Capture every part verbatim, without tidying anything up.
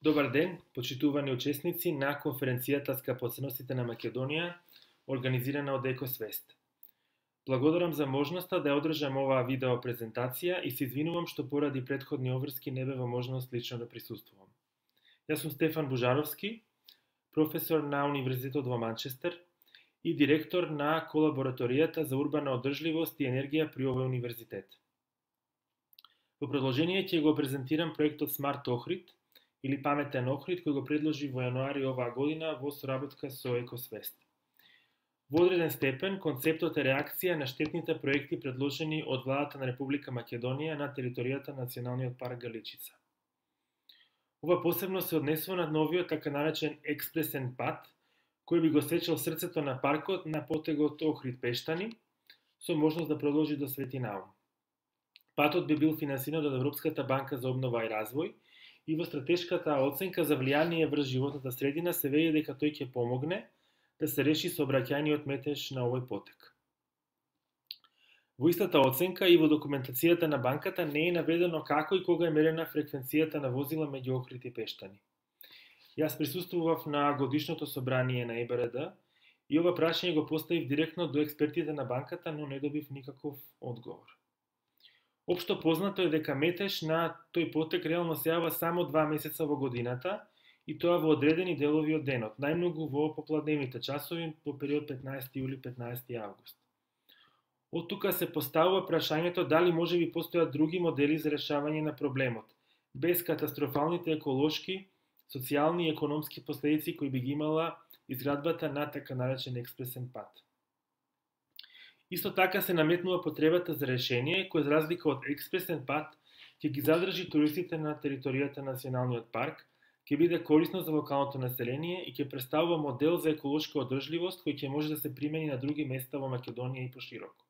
Добар ден, почитувани учесници на конференцијата Скапоценностите на Македонија, организирана од Екосвест. Благодарам за можноста да ја одржам оваа видео презентација и се извинувам што поради претходни обврски не бе во можност лично да присуствувам. Јас сум Стефан Бужаровски, професор на Универзитетот во Манчестер и директор на колабораторијата за урбана одржливост и енергија при овој универзитет. Во продолжение ќе го презентирам проектот Smart Ohrid, или паметен Охрид, кој го предложи во јануари оваа година во соработка со Екосвест. Во одреден степен, концептот е реакција на штетните проекти предложени од владата на Република Македонија на територијата на Националниот парк Галичица. Ова посебно се однесува на новиот така наречен експресен пат, кој би го сечел срцето на паркот на потегот Охрид-Пештани, со можност да продолжи до Свети Наум. Патот би бил финансиран од Европската банка за обнова и развој, и во стратешката оценка за влијание врз животната средина се вели дека тој ќе помогне да се реши сообраќајниот метеж на овој потек. Во истата оценка и во документацијата на банката не е наведено како и кога е мерена фреквенцијата на возила меѓу Охрид и Пештани. Јас присуствував на годишното собрание на Е Б Р Д и ова прашање го поставив директно до експертите на банката, но не добив никаков одговор. Општо познато е дека метеж на тој потек реално се јава само два месеца во годината и тоа во одредени делови од денот, најмногу во попладневните часови во период петнаесети јули – петнаесети август. Од тука се поставува прашањето дали можеби постојат други модели за решавање на проблемот, без катастрофалните еколошки, социјални и економски последици кои би ги имала изградбата на така наречен експресен пат. Исто така се наметнува потребата за решение кој за разлика од експресен пат ќе ги задржи туристите на територијата на Националниот парк, ќе биде корисно за локалното население и ќе представува модел за еколошка одржливост кој ќе може да се примени на други места во Македонија и пошироко.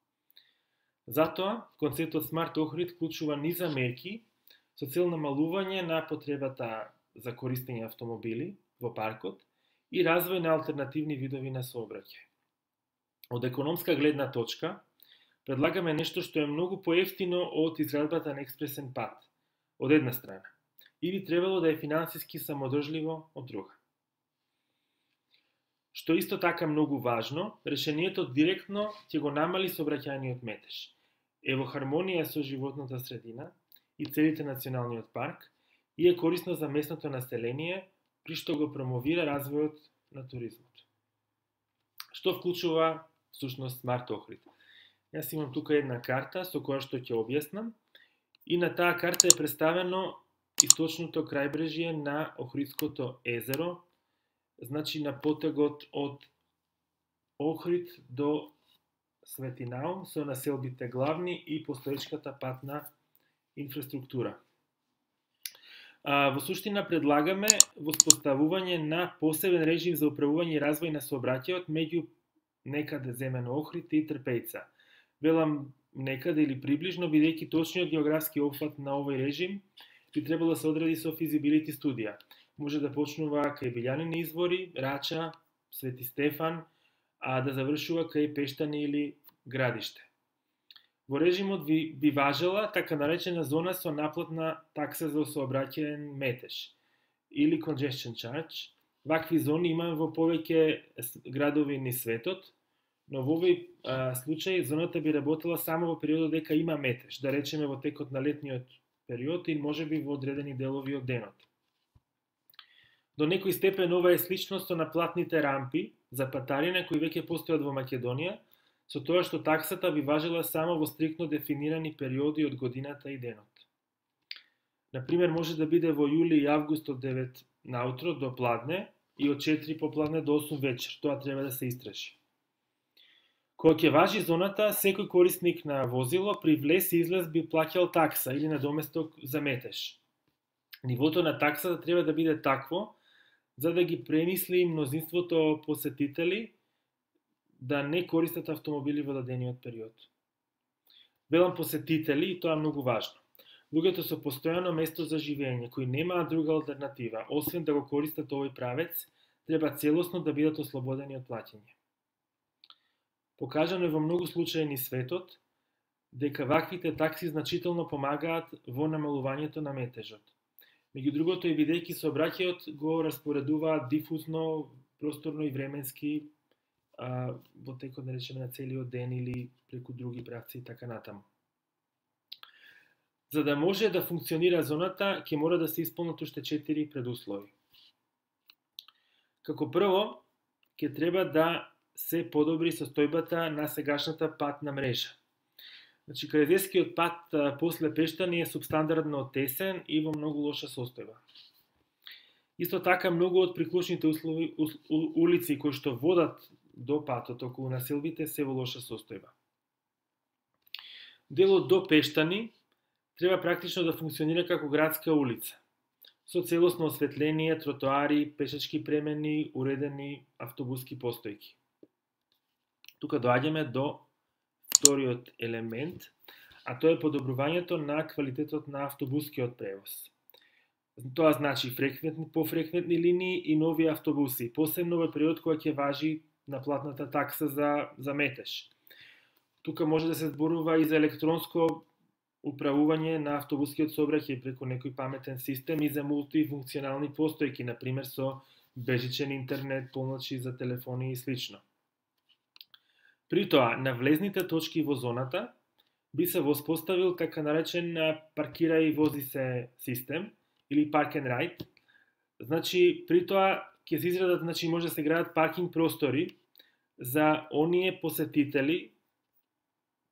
Затоа, концептот Smart Ohrid вклучува низа мерки со цел намалување на потребата за користење автомобили во паркот и развој на алтернативни видови на сообраќај. Од економска гледна точка, предлагаме нешто што е многу поевтино од изградбата на експресен пат, од една страна, и би требало да е финансиски самодржливо од друга. Што исто така многу важно, решението директно ќе го намали сообраќајниот метеж, е во хармонија со животната средина и целите Националниот парк и е корисно за местното население, при што го промовира развојот на туризмот. Што вклучува всушност Smart Ohrid? Јас имам тука една карта со која што ќе објаснам и на таа карта е представено источното крајбрежје на Охридското езеро, значи на потегот од Охрид до Свети Наум со населбите главни и постоечката патна инфраструктура. А, во суштина предлагаме воспоставување на посебен режим за управување и развој на сообраќајот меѓу некаде земено Охрид и Трпејца. Велам некаде или приближно, бидејќи точниот географски опфат на овој режим би требало да се одреди со физибилити студија. Може да почнува кај Билјанини извори, Рача, Свети Стефан, а да завршува кај Пештани или Градиште. Во режимот би, би важела така наречена зона со наплатна такса за сообраќаен метеж или congestion charge. Вакви зони имаме во повеќе градови низ светот, но во овој а, случај зоната би работела само во периодот дека има метеж, да речеме во текот на летниот период или можеби во одредени делови од денот. До некој степен ова е слично со наплатните рампи за патарина кои веќе постојат во Македонија, со тоа што таксата би важела само во стриктно дефинирани периоди од годината и денот. Например, може да биде во јули и август од девет наутро до пладне и од четири попладне до осум вечер. Тоа треба да се истражи. Кога ќе важи зоната, секој корисник на возило при влез и излез би плаќал такса или надоместок за метеж. Нивото на таксата треба да биде такво за да ги премисли мнозинството посетители да не користат автомобили во дадениот период. Велам посетители и тоа е многу важно. Луѓето со постојано место за живење, кои немаат друга алтернатива, освен да го користат овој правец, треба целосно да бидат ослободени од плаќање. Покажано е во многу случаи низ светот дека ваквите такси значително помагаат во намалувањето на метежот. Меѓу другото и бидејќи сообраќајот го распоредуваат дифузно, просторно и временски а, во текот, да речеме, на целиот ден или преку други правци и така натаму. За да може да функционира зоната, ќе мора да се исполнат уште четири предуслови. Како прво, ќе треба да се подобри состојбата на сегашната патна мрежа. Значи, Крајзерскиот пат а, после Пештани е субстандардно тесен и во многу лоша состојба. Исто така, многу од приклучните услови, у, улици кои што водат до патот околу населбите се во лоша состојба. Делот до Пештани треба практично да функционира како градска улица, со целосно осветление, тротоари, пешачки премени, уредени автобуски постојки. Тука доаѓаме до вториот елемент, а тоа е подобрувањето на квалитетот на автобускиот превоз. Тоа значи фреквентни, пофреквентни линии и нови автобуси, посебно во период кога ќе важи наплатната такса за, за метеж. Тука може да се зборува и за електронско управување на автобускиот сообраќај преку некој паметен систем и за мултифункционални постојки, например со бежичен интернет, помоци за телефони и слично. При тоа, на влезните точки во зоната би се воспоставил така наречен паркира и вози се систем или park and ride. Значи, при тоа ќе се изградат, значи може да се градат паркинг простори за оние посетители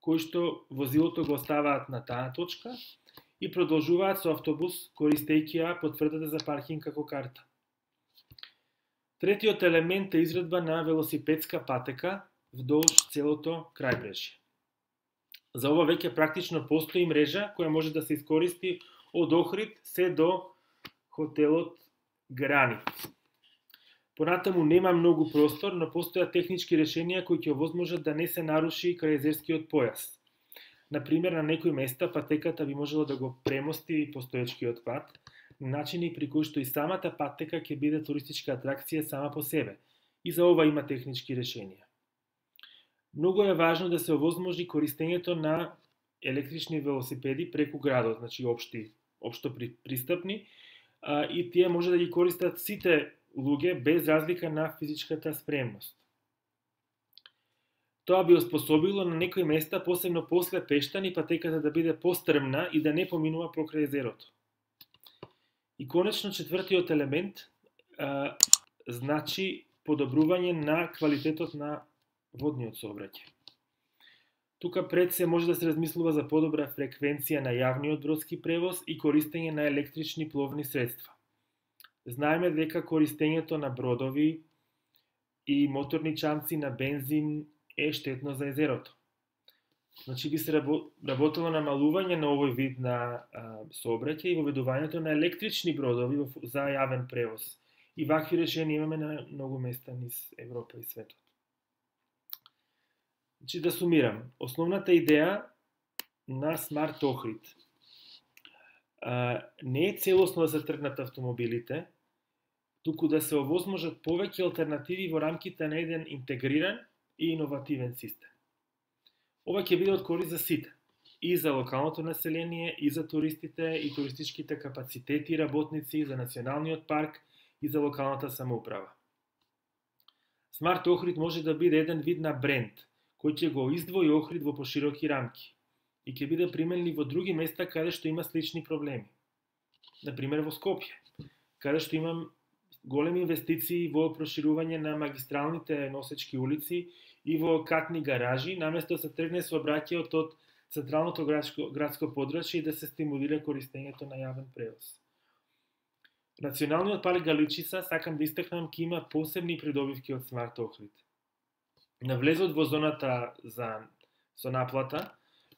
кои што возилото го оставаат на таа точка и продолжуваат со автобус користејќи ја потврдата за паркинг како карта. Третиот елемент е изградба на велосипедска патека вдолж целото крајбрежје. За ова веќе практично постои мрежа која може да се искористи од Охрид се до хотелот Гранит. Понатаму нема многу простор, но постојат технички решенија кои ќе овозможат да не се наруши крајзерскиот појас. Например, на некои места патеката би можело да го премости постоечкиот пат, на начини при кои што и самата патека ќе биде туристичка атракција сама по себе. И за ова има технички решенија. Многу е важно да се овозможи користењето на електрични велосипеди преку градот, значи општи, општо пристапни, а, и тие може да ги користат сите луѓе без разлика на физичката спремност. Тоа би оспособило на некои места, посебно после Пештани, патеката да биде пострмна и да не поминува покрај езерото. И конечно четвртиот елемент а, значи подобрување на квалитетот на водниот сообраќај. Тука пред се може да се размислува за подобра фреквенција на јавниот бродски превоз и користење на електрични пловни средства. Знаеме дека користењето на бродови и моторни чамци на бензин е штетно за езерото. Значи би се работело на намалување на овој вид на сообраќај и воведувањето на електрични бродови за јавен превоз. И вакви решенија имаме на многу места низ Европа и светот. Значи да сумирам, основната идеја на Смарт Охрид не е целосно да се тргнат автомобилите, туку да се овозможат повеќе алтернативи во рамките на еден интегриран и иновативен систем. Ова ќе биде од корист за сите, и за локалното население, и за туристите, и туристичките капацитети и работници, за националниот парк, и за локалната самоуправа. Смарт Охрид може да биде еден вид на бренд, кој ќе го издвои Охрид во пошироки рамки и ќе биде применлив во други места каде што има слични проблеми. Например во Скопје, каде што има големи инвестиции во проширување на магистралните носечки улици и во катни гаражи, наместо да се тргне сообраќајот од централното градско, градско подрачје и да се стимулира користењето на јавен превоз. Националниот парк Галичица, сакам да истакнам, ќе има посебни придобивки од Смарт Охрид. На влезот во зоната за со наплата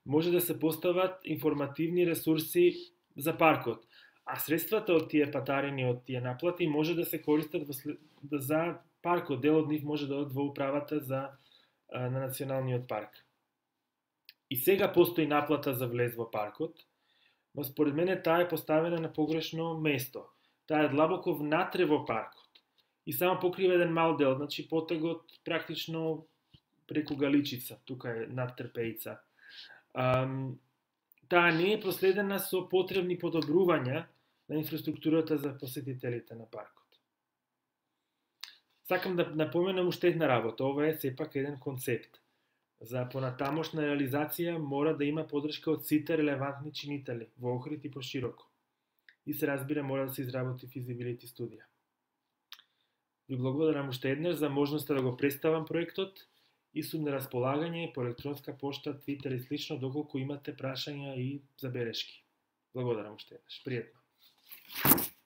може да се постават информативни ресурси за паркот, а средствата од тие патарини, од тие наплати може да се користат во, за паркот. Дел од нив може да одат во управата за на националниот парк. И сега постои наплата за влез во паркот, но според мене таа е поставена на погрешно место. Таа е длабоко внатре во паркот и само покрива еден мал дел, значи потегот практично преку Галичица, тука е над Трпејица. Ам, таа не е проследена со потребни подобрувања на инфраструктурата за посетителите на паркот. Сакам да напоменам уште една работа. Ова е сепак еден концепт. За понатамошна реализација мора да има подршка од сите релевантни чинители, во Охрид и пошироко. И се разбира, мора да се изработи физибилити студија. Ви благодарам уште еднаш за можноста да го представам проектот и сум на располагање по електронска пошта, Твитер и слично, доколку имате прашања и забелешки. Благодарам уште еднаш. Пријатно.